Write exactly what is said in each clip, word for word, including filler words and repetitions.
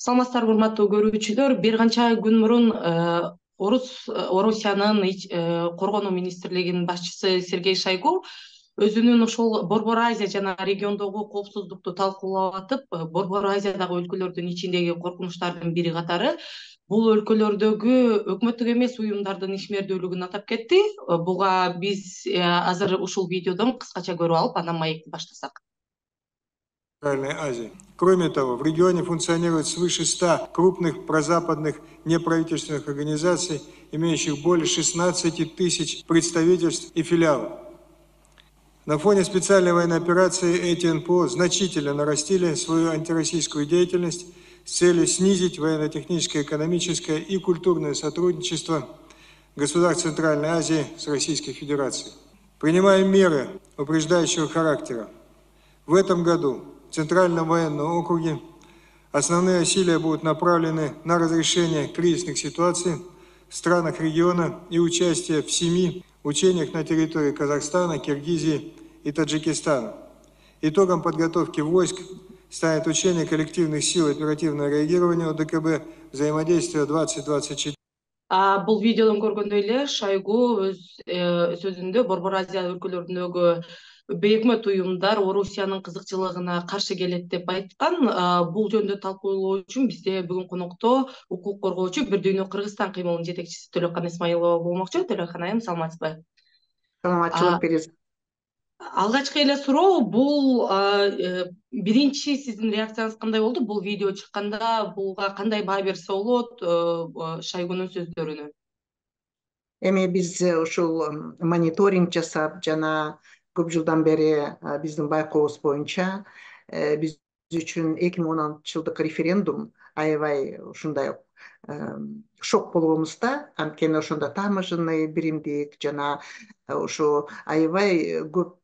Саламатсыздарбы, урматтуу көрүүчүлөр. Бир канча күн мурун Орус Орусиянын коргонуу министрлигинин башчысы Сергей Шойгу өзүнүн ошол Борбор Азия жана региондогу коопсуздукту талкуулап атып, Борбор Азиядагы өлкөлөрдүн ичиндеги коркунучтардын бири катары бул өлкөлөрдөгү өкмөттүк эмес уюмдардын ишмердүүлүгүн атап кетти. Буга биз азыр ушул видеодон кыскача көрүп алып, анан маекти баштасак. Центральной Азии. Кроме того, в регионе функционирует свыше ста крупных прозападных неправительственных организаций, имеющих более шестнадцати тысяч представительств и филиалов. На фоне специальной военной операции эти эн пэ о значительно нарастили свою антироссийскую деятельность с целью снизить военно-техническое, экономическое и культурное сотрудничество государств Центральной Азии с Российской Федерацией. Принимая меры упреждающего характера, в этом году в Центральном военном округе основные усилия будут направлены на разрешение кризисных ситуаций в странах региона и участие в семи учениях на территории Казахстана, Киргизии и Таджикистана. Итогом подготовки войск станет учение коллективных сил оперативного реагирования о дэ ка бэ взаимодействия двадцать двадцать четыре. Бул видеодон көргөндөй эле Шойгу өз сөзүндө Борбор Азия өлкөлөрүндөгү бейөкмөт уюмдар Орусиянын кызыкчылыгына каршы келет деп айткан. Бул жөнүндө талкуулоо үчүн бизде бүгүн конокто укук коргоочу Бир Дүйнө Кыргызстан кыймылынын жетекчиси Төлөккан Исмаилова болмокчу. Төлөккан айым, саламатсызбы? Саламатчылык бересиз. Алгачкы эле суроо, бул биринчи сиздин реакцияңыз кандай болду? Бул видео чыкканда буга кандай баа берсе болот Шойгунун сөздөрүнө? Эми биз ушул мониторинг жасап жана көп жылдан бери биздин байкообуз боюнча биз үчүн эки миң он алтынчы жылдык референдум аябай ушундай шок болгонбуз да. Анткени ошондо таможенный биримдик жана ушу аябай көп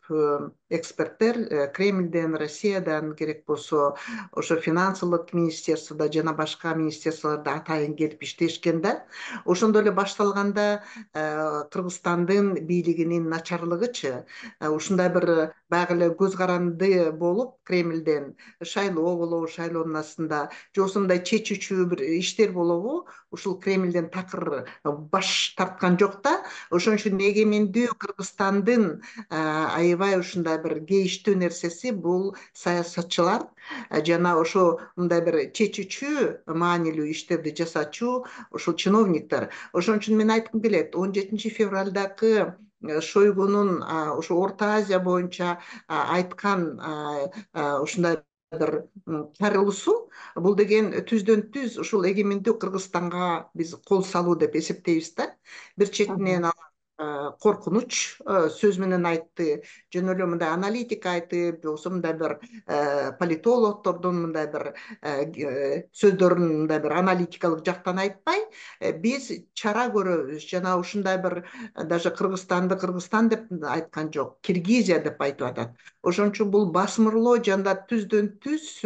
эксперттер Кремльден, Россиядан, керек болсо ошо финансылык министерствода жана башка министерстволордо атайын келип иштешкен да. Ошондо эле башталганда Кыргызстандын бийлигинин начарлыгычы ушундай бир баягы эле көз каранды болуп Кремльден шайлоо болобу, шайлоонун астында же ошондой чечүүчү бир иштер болобу, ушул Кремльден такыр баш тарткан жок да. Ошон үчүн эгемендүү Кыргызстандын аябай ушундай бир кейиштүү нерсеси бул саясатчылар жана ошо мындай бир чечүүчү маанилүү иштерди жасаачу ушул чиновниктер. Ошон үчүн мен айткым келет, он жетинчи февралдагы Шойгунун ушу Орто Азия боюнча айткан ушундай бир чарылуусу, бул деген түздөн түз ушул эгемендүү Кыргызстанга биз кол салуу деп эсептейбиз да. Бир четинен коркунуч сөз менен айтты, жөн эле мындай аналитика айтып, же болбосо мындай бир политологдордун мындай бир сөздөрүн мындай бир аналитикалык жактан айтпай, биз чара көрөбүз жана ушундай бир даже Кыргызстанды Кыргызстан деп айткан жок, Киргизия деп айтып атат. Ошон үчүн бул басмырлоо жана түздөн түз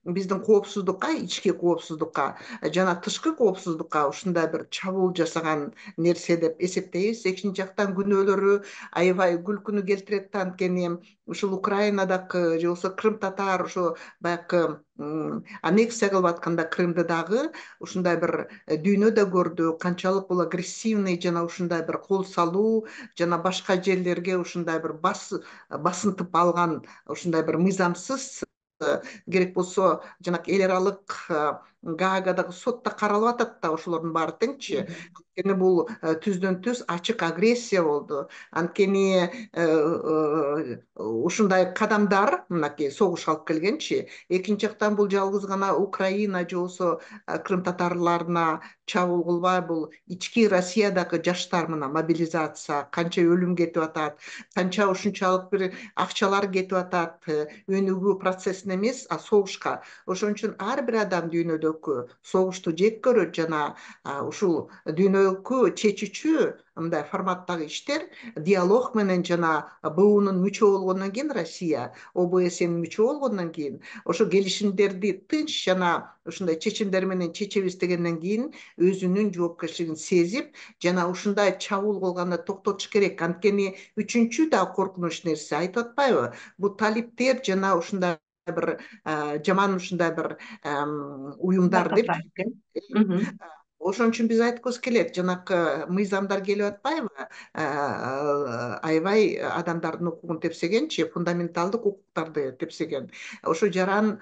биздин коопсуздукка, ички коопсуздукка жана тышкы коопсуздукка ушундай бир чабуул жасаган нерсе деп эсептейбиз. Экинчи жактан күнөөлөрү аябай күлкүнү келтирет да, анткени ушул Украинадагы же болбосо Крым татар ошо баягы аннексия кылып атканда Крымды дагы ушундай бир дүйнө да көрдү, канчалык бул агрессивный жана ушундай бир кол салуу жана башка жерлерге ушундай бир басынтып алган ушундай бир мыйзамсыз, керек болсо жанагы эл аралык Гаагадагы сотто каралып атат да ошолордун баары теңчи. Анткени бул түздөн түз ачык агрессия болду. Анткени ушундай кадамдар мынакей согуш алып келгенчи. Экинчи жактан бул жалгыз гана Украина же болбосо Крым татарларына чабуул кылбай, бул ички Россиядагы жаштар мына мобилизация, канча өлүм кетип атат, канча ушунчалык бир акчалар кетип атат, өнүгүү процессине эмес, а согушка. Ошон үчүн ар бир адам дүйнөдөгү согушту жек көрөт жана ушул дүйнөлүк чечүүчү мындай форматтагы иштер диалог менен жана бэ унун мүчө болгондон кийин Россия, о бэ эсенин мүчө болгондон кийин ошо келишимдерди тынч жана ушундай чечимдер менен чечебиз дегенден кийин өзүнүн жоопкерчилигин сезип жана ушундай чабуул кылганды токтотуш керек. Анткени үчүнчү да коркунуч нерсе айтып атпайбы? Бул талиптер жана ушундай бир жаман ушундай бир уюмдар деп ошон үчүн биз айткыбыз келет, жанакы мыйзамдар келип атпайбы, аябай адамдардын укугун тепсегенчи, фундаменталдык укуктарды тепсеген. Ошо жаран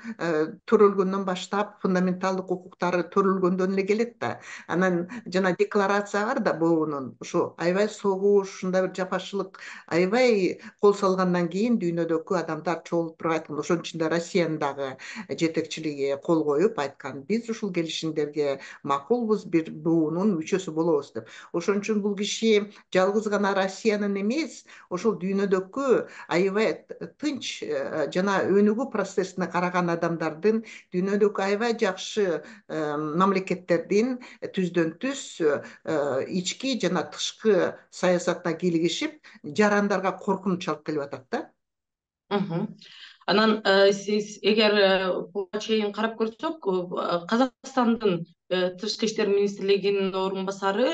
төрөлгөндөн баштап фундаменталдык укуктары төрөлгөндөн эле келет да. Анан жана декларация бар да буунун, ушу аябай согуш, ушундай бир жапашылык, аябай кол салгандан кийин дүйнөдөгү адамдар чогулуп туруп айткан. Ошонун ичинде Россиянын дагы жетекчилиги кол коюп айткан, биз ушул келишимдерге макулбуз, бир буунун мүчөсү болобуз деп. Ошон үчүн бул киши жалгыз гана Россиянын эмес, ошол дүйнөдөгү аябай тынч жана өнүгүү процессине караган адамдардын, дүйнөдөгү аябай жакшы мамлекеттердин түздөн түз ички жана тышкы саясатына кийлигишип, жарандарга коркунуч алып келип атат да. Анан сиз эгер буга чейин карап көрсөк, Казакстандын тышкы иштер министрлигинин орун басары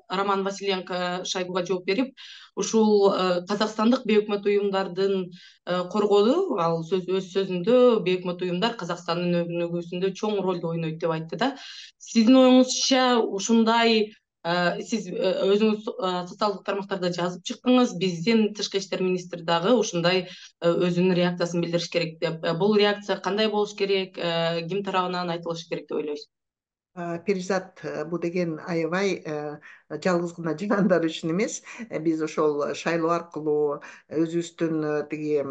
Роман Василенко Шойгуга жооп берип, ушул казакстандык бейөкмөт уюмдардын коргоду, ал өз сөзүндө бейөкмөт уюмдар Казакстандын өнүгүүсүндө чоң ролду ойнойт деп айтты да. Сиздин оюңузча ушундай, сиз өзүңүз социалдык тармактарда жазып чыктыңыз, биздин тышкы иштер министри дагы ушундай өзүнүн реакциясын билдириш керек деп. Бул реакция кандай болуш керек, ким тарабынан айтылышы керек деп ойлойсуз? Перизат, бул деген аябай жалгыз гана жарандар үчүн эмес. Биз ошол шайлоо аркылуу өзүбүздүн тиги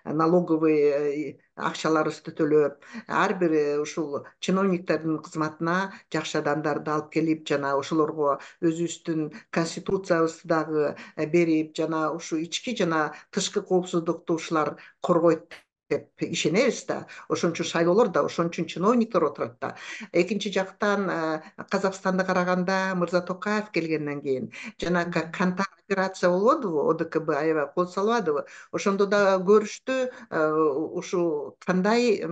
налоговый акчаларыбызды төлөп, ар бир ушул чиновниктердин кызматына жакшы адамдарды алып келип, жана ошолорго өзүбүздүн конституциябызды дагы берип, жана ушу ички жана тышкы коопсуздукту ушулар коргойт деп ишенебиз да. Ошон үчүн шайлоолор да, ошон үчүн чиновниктер отурат да. Экинчи жактан Казакстанды караганда Мырза Токаев келгенден кийин жана Кантар операция болбодубу, О Д К Б аябай кол салбадыбы? Ошондо да көрүштү ушу кандай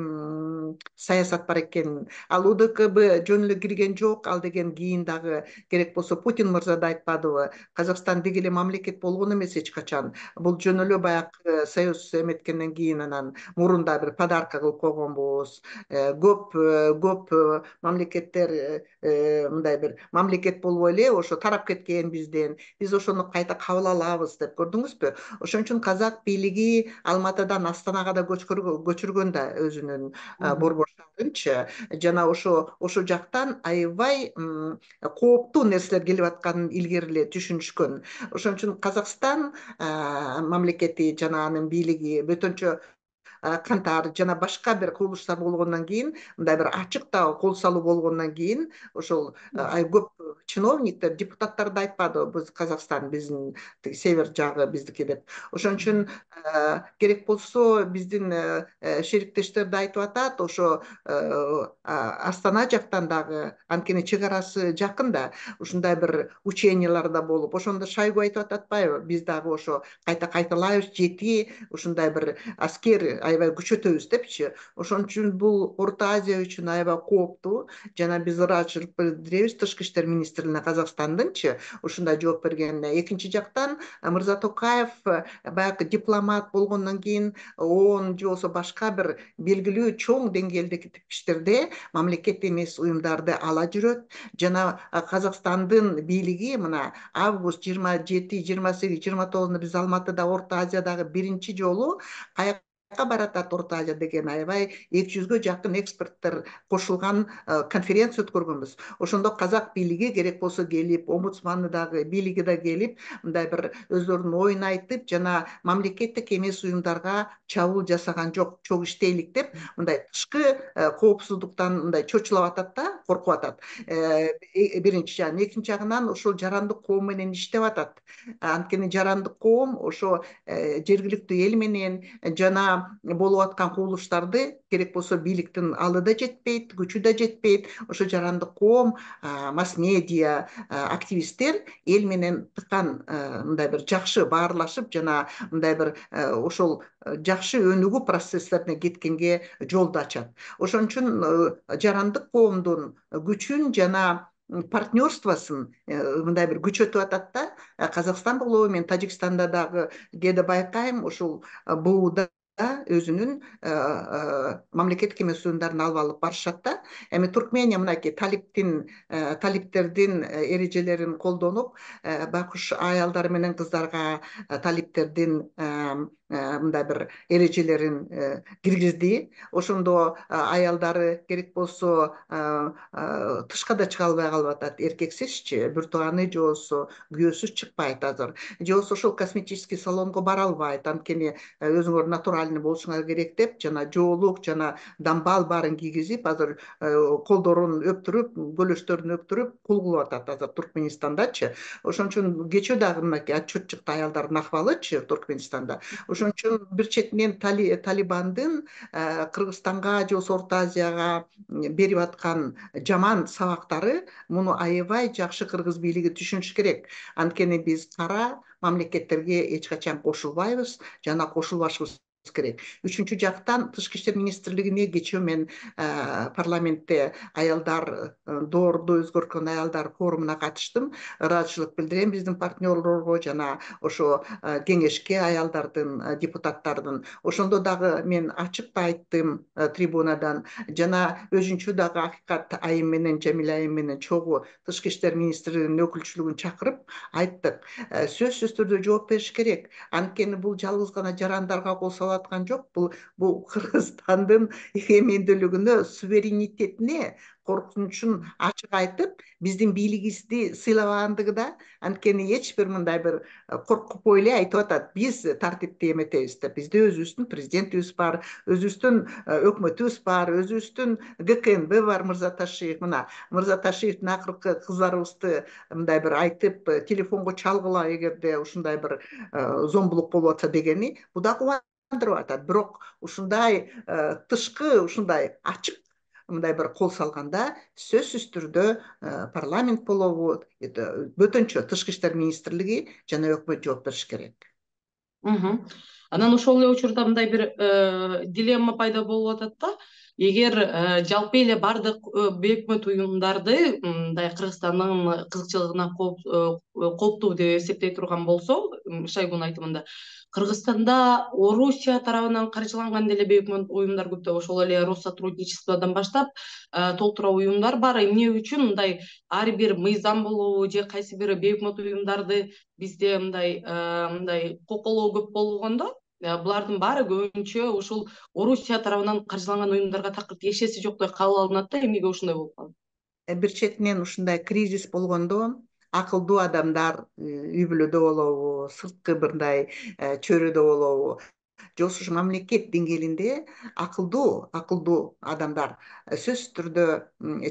саясат бар экенин. Ал О Д К Б жөн эле кирген жок, ал деген кийин дагы керек болсо Путин мырза да айтпадыбы? Казакстан деги эле мамлекет болгон эмес эч качан. Бул жөн эле баягы союз эметкенден кийин анан мурунда бир подарка кылып койгонбуз. Көп көп мамлекеттер мындай бир мамлекет болбой эле ошо тарап кеткен бизден. Биз ошону кайта кабыл алабыз деп, көрдүңүзбү? Ошон үчүн казак бийлиги Алматыдан Астанага да көчүргөн да өзүнүн борбор шаарынчы. Жана ошо ошол жактан аябай кооптуу нерселер келип атканын илгери эле түшүнүшкөн. Ошон үчүн Казакстан мамлекети жана анын бийлиги бөтөнчө Кантар жана башка бир курулуштар болгондон кийин, мындай бир ачык да кол салуу болгондон кийин, ошол көп чиновниктер, депутаттар да айтпады, биз Казакстан биздин север жагы биздики деп. Ошон үчүн керек болсо биздин шериктештер да айтып атат, ошо Астана жактан дагы, анткени чек арасы жакын да, ушундай бир учениялар да болуп, ошондо Шойгу айтып атпайбы, биз дагы ошо кайта кайталайбыз, жети ушундай бир аскер аябай күчөтөбүз депчи. Ошон үчүн бул Орто Азия үчүн аябай кооптуу, жана биз ыраазычылык билдиребиз тышкы иштер министрине Казакстандынчы ушундай жооп бергенине. Экинчи жактан Мырза Токаев баягы дипломат болгондон кийин ООН же болбосо башка бир белгилүү чоң деңгээлдеги иштерде мамлекет эмес уюмдарды ала жүрөт, жана Казакстандын бийлиги мына август жыйырма жети, жыйырма сегиз, жыйырма тогузунда биз Алматыда Орто Азиядагы биринчи жолу баратат. Орто Азия деген аябай эки жүзгө жакын эксперттер кошулган конференция өткөргөнбүз. Ошондо казак бийлиги керек болсо келип, омбудсманы дагы, бийлиги да келип, мындай бир өздөрүнүн оюн айтып, жана мамлекеттик эмес уюмдарга чабуул жасаган жок, чогуу иштейлик деп, мындай тышкы коопсуздуктан мындай чочулап атат да, коркуп атат. Биринчи жагынан, экинчи жагынан ошол жарандык коом менен иштеп атат. Анткени жарандык коом ошо жергиликтүү эл менен жана болуп аткан курулуштарды керек болсо бийликтин алы да жетпейт, күчү да жетпейт. Ошо жарандык коом, масс-медиа, активисттер эл менен тыкан мындай бир жакшы баарлашып, жана мындай бир ошол жакшы өнүгүү процесстерине кеткенге жолду ачат. Ошон үчүн жарандык коомдун күчүн жана партнерствосын мындай бир күчөтүп атат да. Казакстан болобу, мен Тажикстанда дагы кээде байкайм, ушул бууда өзүнүн мамлекеттик эмес уюмдарын алып алып барышат да. Эми Туркмения мынакей талиптин талиптердин эрежелерин колдонуп, байкуш аялдар менен кыздарга талиптердин мындай бир эрежелерин киргизди. Ошондо аялдары керек болсо тышка да чыга албай калып атат, эркексизчи, бир тууганы же болбосо күйөөсүз чыкпайт азыр. Же болбосо ошол косметический салонго бара албайт, анткени өзүңөр натуральный болушуңар керек деп, жана жоолук, жана дамбал баарын кийгизип, азыр колдорун өптүрүп, көлөштөрүн өптүрүп кул кылып атат азыр Туркменистандачы. Ошон үчүн кечөө дагы мынакей отчет чыкты аялдардын акыбалычы Туркменистанда. Ошон үчүн бир четинен Талибандын Кыргызстанга же болбосо Орто Азияга берип аткан жаман сабактары, муну аябай жакшы кыргыз бийлиги түшүнүш керек. Анткени биз кара мамлекеттерге эч качан кошулбайбыз жана кошулбашыбыз керек. Үчүнчү жактан Тышкы иштер министрлигине кечөө мен парламентте аялдар доорду өзгөрткөн аялдар форумуна катыштым. Ыраазычылык билдирем биздин партнерлорго жана ошо кеңешке аялдардын, депутаттардын. Ошондо дагы мен ачык айттым трибунадан, жана өзүнчө дагы Акыкат айым менен, Жамиля айым менен чогуу Тышкы иштер министрлигинин өкүлчүлүгүн чакырып айттык. Сөзсүз түрдө жооп бериш керек. Анткени бул жалгыз гана жарандарга кол салып аткан жок. Бул бул Кыргызстандын эгемендүүлүгүнө, суверенитетине коркунучун ачык айтып, биздин бийлигибизди сыйлабагандыгы да. Анткени эч бир мындай бир коркуп эле айтып атат, биз тартипти эметебиз деп. Бизде өзүбүздүн президентибиз бар, өзүбүздүн өкмөтүбүз бар, өзүбүздүн ГКНБ бар, Мырза Ташиев. Мына Мырза Ташиевдин акыркы кыздарыбызды мындай бир айтып, телефонго чалгыла эгерде ушундай бир зомбулук болуп атса дегени, бул да кубандырып атат. Бирок ушундай тышкы, ушундай ачык мындай бир кол салганда сөзсүз түрдө парламент болобу, бөтөнчө Тышкы иштер министрлиги жана өкмөт жооп бериш керек. Анан ошол эле учурда мындай бир дилемма пайда болуп атат да. Эгер жалпы эле бардык бейөкмөт уюмдарды мындай Кыргызстандын кызыкчылыгына кооптуу деп эсептей турган болсо, Шойгунун айтымында, Кыргызстанда Орусия тарабынан каржыланган деле бейөкмөт уюмдар көптөп, ошол эле Россотрудничестводон баштап толтура уюмдар бар. Эмне үчүн мындай ар бир мыйзам болобу же кайсы бир бейөкмөт уюмдарды бизде мындай мындай коколоо көп болгондо, булардын баары көбүнчө ушул Орусия тарабынан каржыланган уюмдарга такыр тиешеси жоктой кабыл алынат да. Эмнеге ошондой болуп калат? Бир четинен ушундай кризис болгондо акылдуу адамдар үй бүлөдө болобу, сырткы мындай чөйрөдө болобу, же болбосо мамлекет деңгээлинде акылдуу акылдуу адамдар сөзсүз түрдө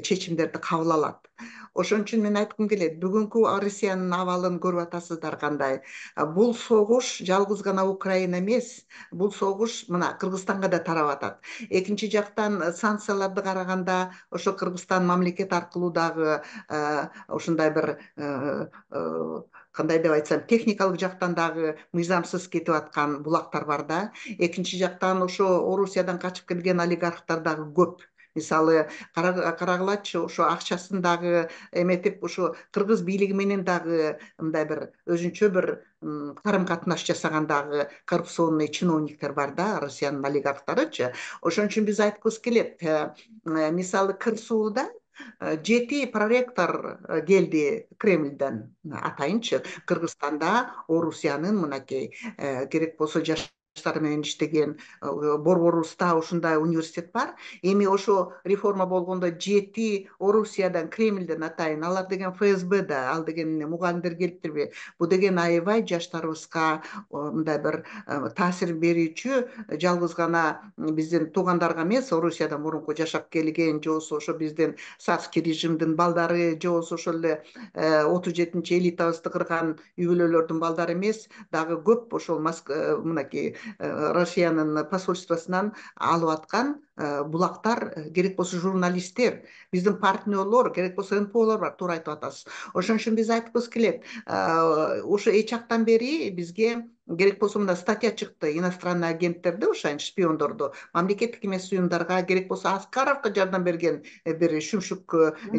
чечимдерди кабыл алат. Ошон үчүн мен айткым келет, бүгүнкү Россиянын абалын көрүп атасыздар кандай. Бул согуш жалгыз гана Украина эмес, бул согуш мына Кыргызстанга да тарап атат. Экинчи жактан санкцияларды караганда, ошо Кыргызстан мамлекет аркылуу дагы ушундай бир кандай деп айтсам, техникалык жактан дагы мыйзамсыз кетип аткан булактар бар да. Экинчи жактан ошо Орусиядан качып келген олигархтар дагы көп. Мисалы, карагылачы, ошо акчасын дагы эметип, ошо кыргыз бийлиги менен дагы мындай бир өзүнчө бир карым катнаш жасаган дагы коррупционный чиновниктер бар да, Россиянын олигархтарычы. Ошон үчүн биз айткыбыз келет, мисалы Кырсууда жети проректор келди Кремльден, атайынчы. Кыргызстанда Орусиянын мынакей керек болсо жаштар менен иштеген Борборубузда ушундай университет бар. Эми ошо реформа болгондо жети Орусиядан, Кремльден атайын, алар деген ФСБ да, ал деген мугалимдер келиптирби? Бул деген аябай жаштарыбызга мындай бир таасир берүүчү, жалгыз гана биздин туугандарга эмес, Орусияда мурунку жашап келген, же болбосо ошо биздин царский режимдин балдары, же болбосо ошол эле отуз жетинчи элитабызды кырган үй бүлөлөрдүн балдары эмес, дагы көп ошол мынакей Россиянын посольствосунан алып аткан булактар, керек болсо журналисттер, биздин партнерлор, керек болсо эн пэ олор бар, туура айтып атасыз. Ошон үчүн биз айткыбыз келет, ошо эч жактан бери бизге керек болсо мына статья чыкты, иностранный агенттерди, ошо шпиондорду мамлекеттик эмес уюмдарга, керек болсо Аскаровго жардам берген бир шүмшүк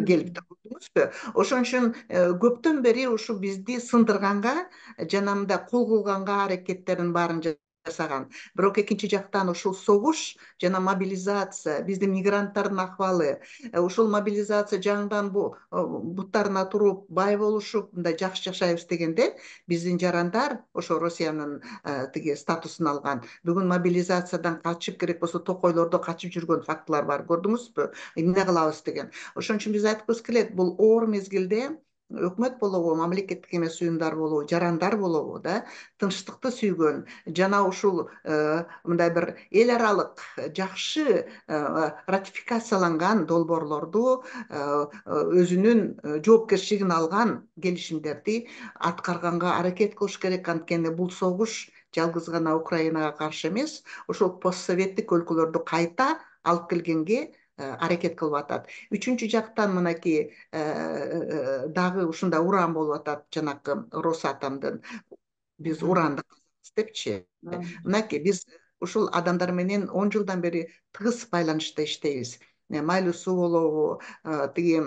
келипти, көрдүңүзбү? Ошон үчүн көптөн бери ушу бизди сындырганга жана мындай кул кылганга аракеттерин баарын жасаган. Бирок экинчи жактан ушул согуш жана мобилизация, биздин мигранттардын акыбалы, ушул мобилизация жаңыдан буттарына туруп, бай болушуп, мындай жакшы жашайбыз дегенде, биздин жарандар ошо Россиянын тиги статусун алган. Бүгүн мобилизациядан качып, керек болсо токойлордо качып жүргөн фактылар бар. Көрдүңүзбү? Эмне кылабыз деген. Ошон үчүн биз айткыбыз келет, бул оор мезгилде өкмөт болобу, мамлекеттик эмес уюмдар болобу, жарандар болобу да, тынчтыкты сүйгөн жана ушул мындай бир эл аралык жакшы ратификацияланган долбоорлорду, өзүнүн жоопкерчилигин алган келишимдерди аткарганга аракет кылыш керек. Анткени бул согуш жалгыз гана Украинага каршы эмес, ошол постсоветтик өлкөлөрдү кайта алып келгенге аракет кылып атат. Үчүнчү жактан мынакей дагы ушундай уран болуп атат, жанакы Росатомдун. Биз уранды депчи. Мынакей биз ушул адамдар менен он жылдан бери тыгыз байланышта иштейбиз. Майлуу суу болобу, тиги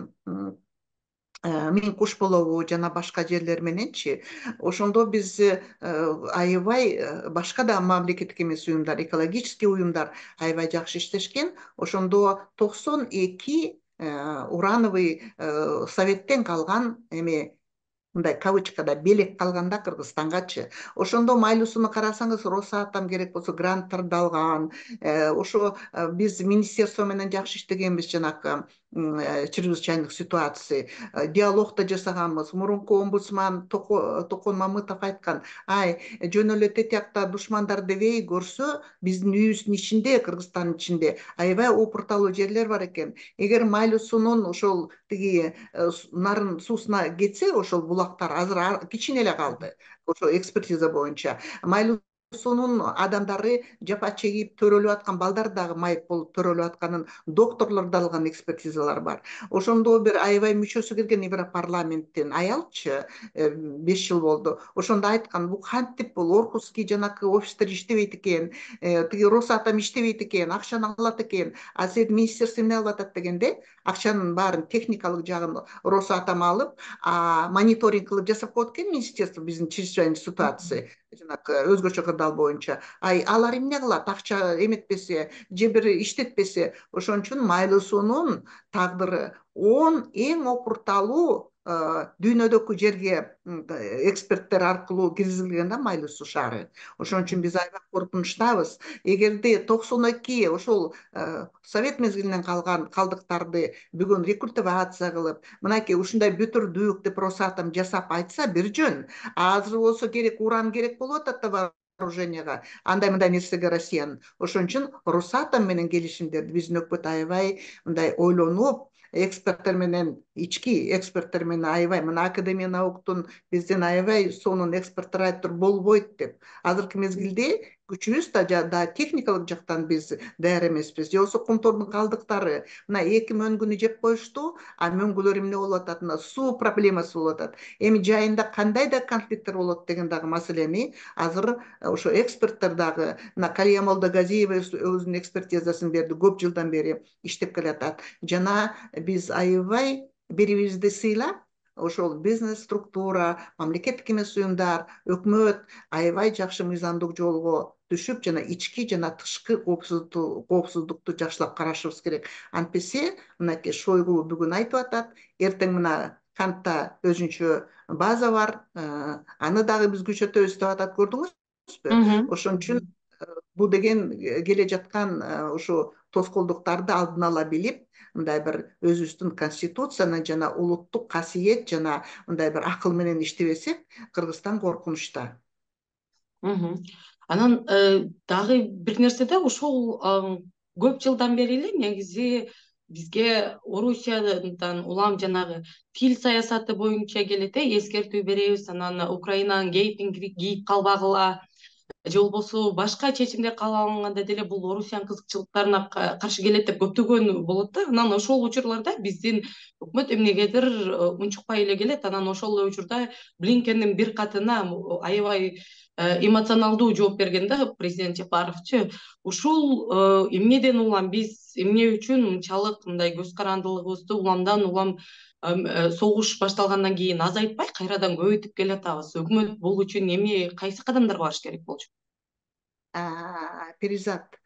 Миң куш болобу жана башка жерлер мененчи. Ошондо биз аябай башка да мамлекеттик эмес уюмдар, экологический уюмдар аябай жакшы иштешкен. Ошондо токсон эки урановый советтен калган эме, мындай кавычкада белек калган да Кыргызстангачы. Ошондо майлуу сууну карасаңыз, Росатом керек болсо гранттарды алган. Ошо биз министерство менен жакшы иштегенбиз, жанакы чрезвычайных ситуаций, диалог да жасаганбыз. Мурунку омбудсман Токон Мамытов айткан, ай, жөн эле тетиякта душмандар дебей көрсө, биздин үйүбүздүн ичинде, Кыргызстандын ичинде аябай опурталуу жерлер бар экен. Эгер майлуу суунун ошол тиги нарын суусуна кетсе, ошол булактар азыр кичине эле калды. Ошо экспертиза боюнча майлуу суунун адамдары жапа чегип төрөлүп аткан, балдар дагы майып болуп төрөлүп атканын докторлор да алган экспертизалар бар. Ошондо бир аябай мүчөсү келген Европарламенттин аялчы, беш жыл болду. Ошондо айткан, бул кантип бул Орхусский жанакы офистер иштебейт экен, тиги Росатом иштебейт экен, акчаны алат экен, а силердин министерство эмне кылып атат дегенде, акчанын баарын техникалык жагын Росатом алып, а мониторинг кылып жасап коет экен министерство, биздин чрезвычайный ситуация жанакы өзгөчө кырдаал боюнча. Ай, алар эмне кылат? Акча эметпесе, же бир иштетпесе. Ошон үчүн майлуу суунун тагдыры он эң опурталуу дүйнөдөгү жерге эксперттер аркылуу киргизилген да майлуу суу шаары. Ошон үчүн биз аябай коркунучтабыз. Эгерде токсон эки ошол совет мезгилинен калган калдыктарды бүгүн рекультивация кылып, мынакей ушундай бүтүрдүк деп Росатом жасап айтса бир жөн. Азыр болсо керек уран керек болуп атат да вооруженияга, андай мындай нерсеге Россиянын. Ошон үчүн Росатом менен келишимдерди биздин өкмөт аябай мындай ойлонуп, эксперттер менен, ички эксперттер менен аябай, мына Академия науктун биздин аябай сонун эксперттер айтыптыр, болбойт деп. Азыркы мезгилде күчүбүз да техникалык жактан биз даяр эмеспиз. Же болбосо Кумтордун калдыктары мына эки мөңгүнү жеп коюшту, а мөңгүлөр эмне болуп атат? Мына суу проблемасы болуп атат. Эми жайында кандай да конфликттер болот деген дагы маселени азыр ошо эксперттер дагы, мына Калия Молдогазиева өзүнүн экспертизасын берди, көп жылдан бери иштеп келатат. Жана биз аябай бири-бирибизди сыйлап, ошол бизнес структура, мамлекеттик эмес уюмдар, өкмөт аябай жакшы мыйзамдык жолго түшүп, жана ички жана тышкы коопсуздукту жакшылап карашыбыз керек. Антпесе, мынакей Шойгу бүгүн айтып атат, эртең мына Кантта өзүнчө база бар, аны дагы биз күчөтөбүз деп атат, көрдүңүзбү? Ошон үчүн бул деген келе жаткан ушу тоскоолдуктарды алдын ала билип, мындай бир өзүбүздүн конституцияны жана улуттук касиет жана мындай бир акыл менен иштебесек, Кыргызстан коркунучта. Анан дагы бир нерсе да, ушул көп жылдан бери эле негизи бизге Орусиядан улам жанагы тил саясаты боюнча келет, эскертүү беребиз, анан Украинанын гейтин кийип калбагыла, же болбосо башка чечимдер кабыл алынганда деле бул Орусиянын кызыкчылыктарына каршы келет деп көптөгөн болот да. Анан ошол учурларда биздин өкмөт эмнегедир унчукпай эле келет. Анан ошол эле учурда Блинкендин бир катына аябай эмоционалдуу жооп берген да президент Жапаровчу. Ушул эмнеден улам биз эмне үчүн мынчалык мындай көз карандылыгыбызды уламдан улам согуш башталгандан кийин азайтпай кайрадан көбөйтүп келатабыз? Өкмөт бул үчүн эми кайсы кадамдар барыш керек болчу? Перизат,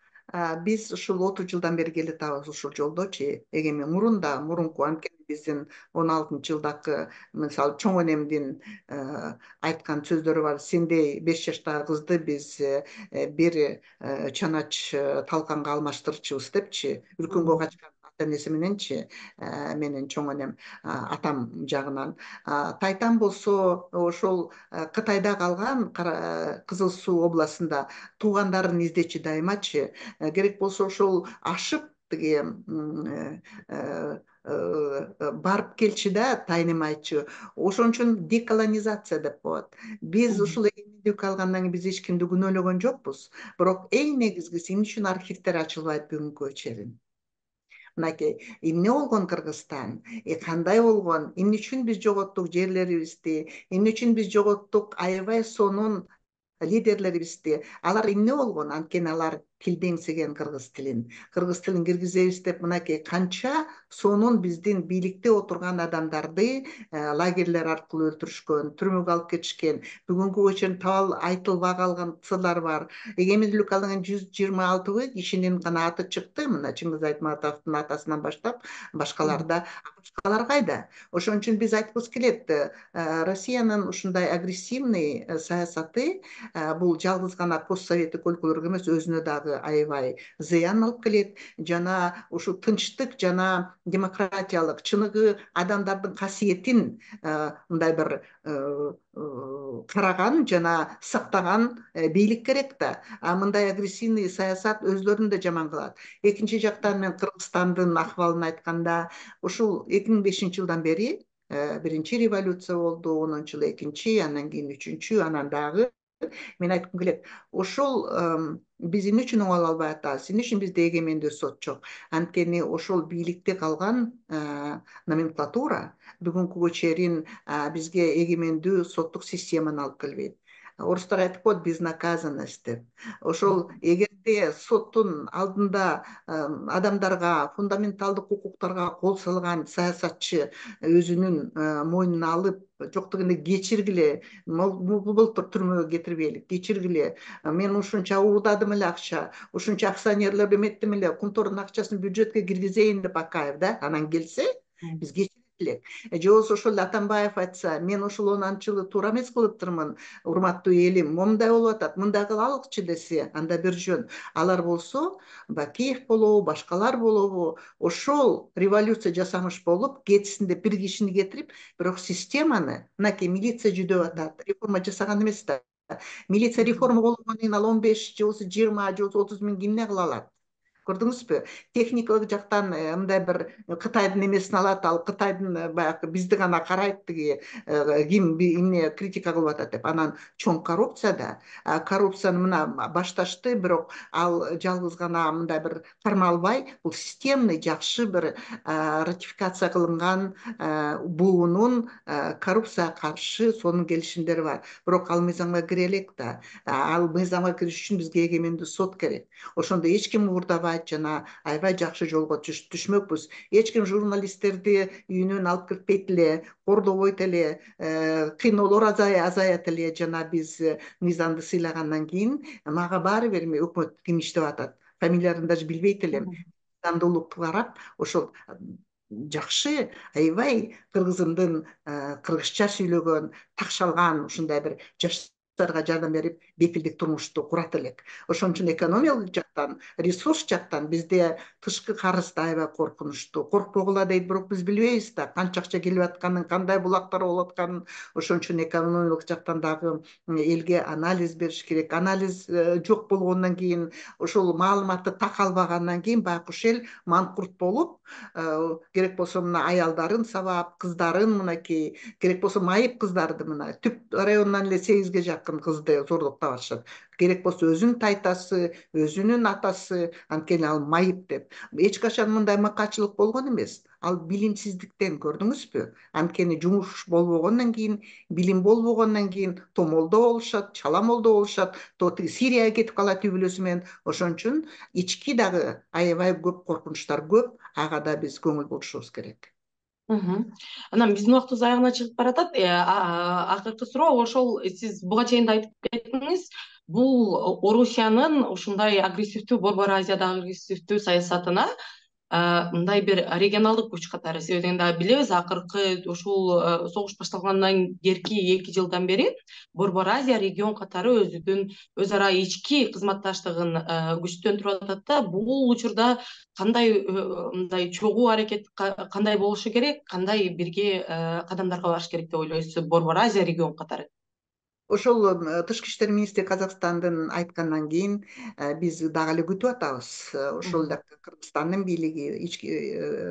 биз ушул отуз жылдан бери келатабыз ушул жолдочу. Эгемен мурун да, мурунку анткени биздин он алтынчы жылдагы мисалы чоң энемдин айткан сөздөрү бар. Сендей беш жаштагы кызды биз бир чанач талканга алмаштырчубуз депчи, үркөнгө качкан ата энеси мененчи, менин чоң энем атам жагынан. Тайтам болсо ошол Кытайда калган Кызыл Суу областында туугандарын издечи дайымачы. Керек болсо ошол ашып тиги барып келчи да тайнымайчы. Ошон үчүн деколонизация деп коет. Биз ушул эгемендик алгандан кийин биз эч кимди күнөөлөгөн жокпуз. Бирок эң негизгиси эмне үчүн архивдер ачылбайт бүгүнкү чейин? Мынакей, эмне болгон Кыргызстан? Кандай болгон? Эмне үчүн биз жоготтук жерлерибизди? Эмне үчүн биз жоготтук аябай сонун лидерлерибизди? Алар эмне болгон? Анткени алар тилдеңсеген кыргыз тилин. Кыргыз тилин киргизебиз деп мынакей канча сонун биздин бийликте отурган адамдарды лагерлер аркылуу өлтүрүшкөн, түрмөгө алып кетишкен. Бүгүнкүгө чейин табал айтылбай калган кыссалар бар. Эгемендүүлүк алган жүз жыйырма алты кишинин гана аты чыкты. Мына Чыңгыз Айтматовдун атасынан баштап башкаларда. Башкалар кайда? Ошон үчүн биз айткыбыз келет, Россиянын ушундай агрессивный саясаты бул жалгыз гана постсоветтик өлкөлөргө эмес, өзүнө дагы аябай зыян алып келет. Жана ушу тынчтык жана демократиялык чыныгы адамдардын касиетин мындай бир караган жана сактаган бийлик керек да. А мындай агрессивный саясат өзлөрүн да жаман кылат. Экинчи жактан мен Кыргызстандын акыбалын айтканда, ушул эки миң бешинчи жылдан бери биринчи революция болду, онунчу жылы экинчи, андан кийин үчүнчү, анан дагы мен айткым келет, ошол биз эмне үчүн оңоло албай атабыз? Эмне үчүн бизде эгемендүү сот жок? Анткени ошол бийликте калган номенклатура бүгүнкүгө чейин бизге эгемендүү соттук системаны алып келбейт. Орустар айтып коет безнаказанность деп. Ошол эгерде соттун алдында адамдарга фундаменталдык укуктарга кол салган саясатчы өзүнүн мойнуна алып, жок дегенде кечиргиле, былтыр түрмөгө кетирбейли, кечиргиле, мен ушунча уурдадым эле акча, ушунча акционерлерди эметтим эле, Кумтордун акчасын бюджетке киргизейин деп Акаев да, анан келсе, биз кечирет элек. Же болбосо ошол Атамбаев айтса, мен ушул онунчу жылы туура эмес кылыптырмын, урматтуу элим, момундай болуп атат, мындай кылалыкчы десе, анда бир жөн. Алар болсо, Бакиев болобу, башкалар болобу, ошол революция жасамыш болуп, кетсин деп бир кишини кетирип, бирок системаны, мынакей милиция жүдөп атат, реформа жасаган эмес да. Милиция реформа болгондон кийин ал он беш же болбосо жыйырма же болбосо отуз миң эмне кыла алат? Көрдүңүзбү? Техникалык жактан мындай бир Кытайдын эмесин алат, ал Кытайдын баягы бизди гана карайт, тиги ким эмне критика кылып атат деп. Анан чоң коррупция да. Коррупцияны мына башташты, бирок ал жалгыз гана мындай бир кармалбай, бул системный жакшы бир ратификация кылынган буунун коррупцияга каршы сонун келишимдери бар. Бирок ал мыйзамга кире элек да. Ал мыйзамга кириш үчүн бизге эгемендүү сот керек. Ошондо эч ким уурдабайт жана аябай жакшы жолго түшмөкпүз. Эч ким журналисттерди үйүнөн алып киртпейт эле, кордобойт эле, кыйноолор азаят эле. Жана биз мыйзамды сыйлагандан кийин мага баары бир өкмөт ким иштеп атат, фамилияларын даже билбейт элем. Мыйзамдуулукту карап, ошол жакшы, аябай кыргызымдын кыргызча сүйлөгөн, такшалган ушундай бир жаштарга жардам берип, бепилдик турмушту курат элек. Ошон үчүн экономикалык жактан, ресурс жактан бизде тышкы карыз да аябай коркунучтуу. Коркпогула дейт, бирок биз билбейбиз да канча акча келип атканын, кандай булактар болуп атканын. Ошон үчүн экономикалык жактан дагы элге анализ бериш керек. Анализ жок болгондон кийин, ошол маалыматты так албагандан кийин байкуш эл манкурт болуп, керек болсо мына аялдарын сабап, кыздарын мынакей, керек болсо майып кыздарды мына Түп районунан эле сегизге жакын кызды зордуктап атышат. Керек болсо өзүнүн тайтасы, өзүнүн атасы, анткени ал майып деп. Эч качан мындай мыкаачылык болгон эмес. Ал билимсиздиктен, көрдүңүзбү? Анткени жумуш болбогондон кийин, билим болбогондон кийин томолдо болушат, чаламолдо болушат, то тиги Сирияга кетип калат үй бүлөсү менен. Ошон үчүн ички дагы аябай көп коркунучтар көп, ага да биз көңүл бурушубуз керек. Анан биздин убактыбыз аягына чыгып баратат. Акыркы суроо ошол сиз буга чейин да айтып кеттиңиз. Бул Орусиянын ушундай агрессивдүү, Борбор Азиядагы агрессивдүү саясатына мындай бир регионалдык күч катары, себеби дегенде билебиз, акыркы ушул согуш башталгандан кийинки эки жылдан бери Борбор Азия регион катары өзүнүн өз ара ички кызматташтыгын күчтөндүрүп атат да. Бул учурда кандай мындай чогуу аракет кандай болушу керек, кандай бирге кадамдарга барыш керек деп ойлойсуз Борбор Азия регион катары? Ошол тышкы иштер министри Казакстандын айткандан кийин биз дагы эле күтүп атабыз. Ошол эле Кыргызстандын бийлиги, ички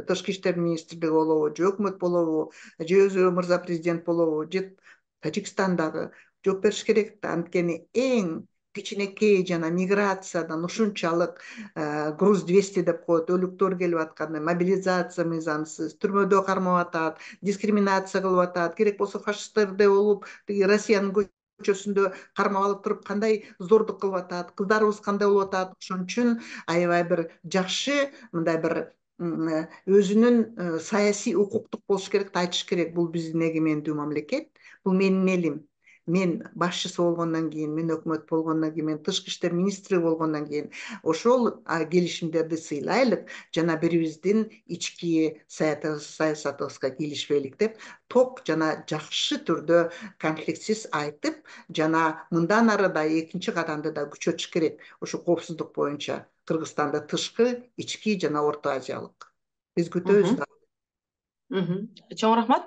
тышкы иштер министрлиги болобу, же өкмөт болобу, же өзү мырза президент болобу, же Тажикстандагы жооп бериш керек да. Анткени эң кичинекей жана миграциядан ушунчалык груз двести деп коет, өлүктөр келип атканда, мобилизация мыйзамсыз, түрмөдө кармап атат, дискриминация кылып атат, керек болсо фашисттердей болуп, тиги Россиянын көчөсүндө кармап алып туруп кандай зордук кылып атат, кыздарыбыз кандай болуп атат. Ошон үчүн аябай бир жакшы мындай бир өзүнүн саясий укуктук болуш керек да, айтыш керек. Бул биздин эгемендүү мамлекет, бул менин элим. Мен башчысы болгондон кийин, мен өкмөт болгондон кийин, мен тышкы иштер министри болгондон кийин ошол келишимдерди сыйлайлык жана бирибиздин ички саясатыбызга кийлишпейлик деп ток жана жакшы түрдө конфликтсиз айтып, жана мындан ары да экинчи кадамды да күчөтүш керек. Ошо коопсуздук боюнча Кыргызстанда тышкы, ички жана Орто Азиялык. Биз күтөбүз да. Чоң рахмат.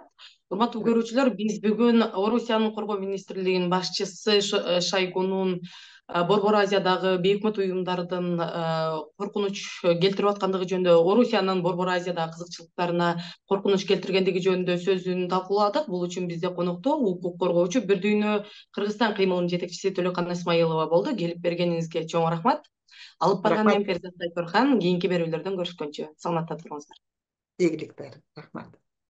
Урматтуу көрүүчүлөр, биз бүгүн Орусиянын коргоо министрлигинин башчысы Шойгунун Борбор Азиядагы бейөкмөт уюмдардын коркунуч келтирип аткандыгы жөнүндө, Орусиянын Борбор Азиядагы кызыкчылыктарына коркунуч келтиргендиги жөнүндө сөзүн талкууладык. Бул үчүн бизде конокто укук коргоочу Бир дүйнө Кыргызстан кыймылынын жетекчиси Төлөкан Исмаилова болду. Келип бергениңизге чоң рахмат. Алып барган мен Перизат Айторхан. Кийинки берүүлөрдөн көрүшкөнчө саламатта туруңуздар. Ийгиликтер. Рахмат.